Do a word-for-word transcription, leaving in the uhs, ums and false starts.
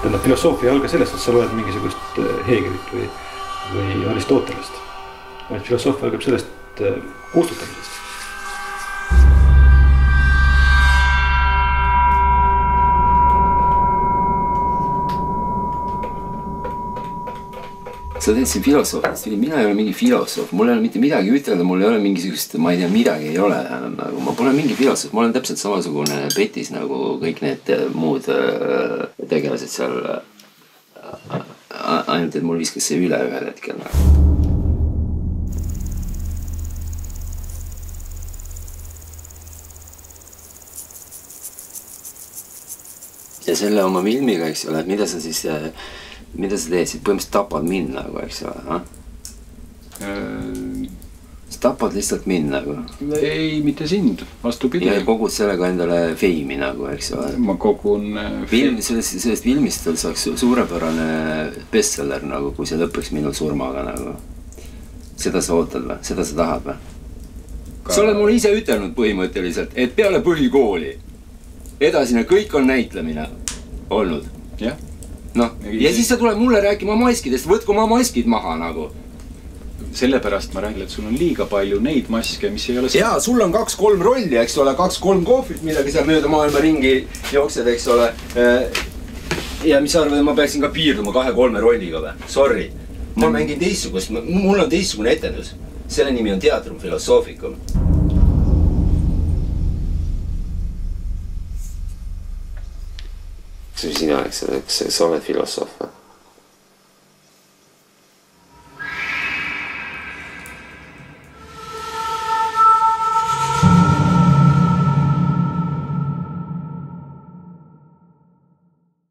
Tähendab, filosoofia ei alga sellest, et sa loed mingisugust Hegelit või, või Aristotelest. Vaid filosoofia algab sellest kustutamisest. Sa teed siin filosoofist, mina ei ole mingi filosoof, mul ei ole mitte midagi ütelda, mul ei ole mingisugust, ma ei tea, midagi ei ole. Nagu, ma pole mingi filosoof, ma olen täpselt samasugune petis nagu kõik need muud tegelased seal. Ainult, et mul viskas see üle ühel hetkel. Ja selle oma filmiga, eks ole, et mida sa siis... Mida sa teed? Põhimõtteliselt tapad mind nagu, eks ole? Sa tapad lihtsalt mind nagu? Ei, mitte sind, vastupidi. Ja kogud sellega endale feimi nagu, eks ole? Ma kogun... Sellest, sellest filmist saaks suurepärane bestseller nagu, kui see lõpeks minu surmaga nagu. Seda sa ootad või? Seda sa tahad või? Sa oled mulle ise ütelnud põhimõtteliselt, et peale põhikooli edasine kõik on näitlemine olnud. Jah. No, ja siis sa tuleb mulle rääkima maskidest, võtku oma maskid maha nagu. Sellepärast ma räägin, et sul on liiga palju neid maske, mis ei ole... Jaa, sul on kaks-kolm rolli, eks ole, kaks-kolm kohvrit, midagi seal mööda maailma ringi jooksed, eks ole. Ja mis arvad, et ma peaksin ka piirduma kahe-kolme rolliga või? Sorry. Ma mängin teistsugust, mul on teistsugune etendus. Selle nimi on Teatrum Philosophikum. Sina, eks sa oled filosoof või?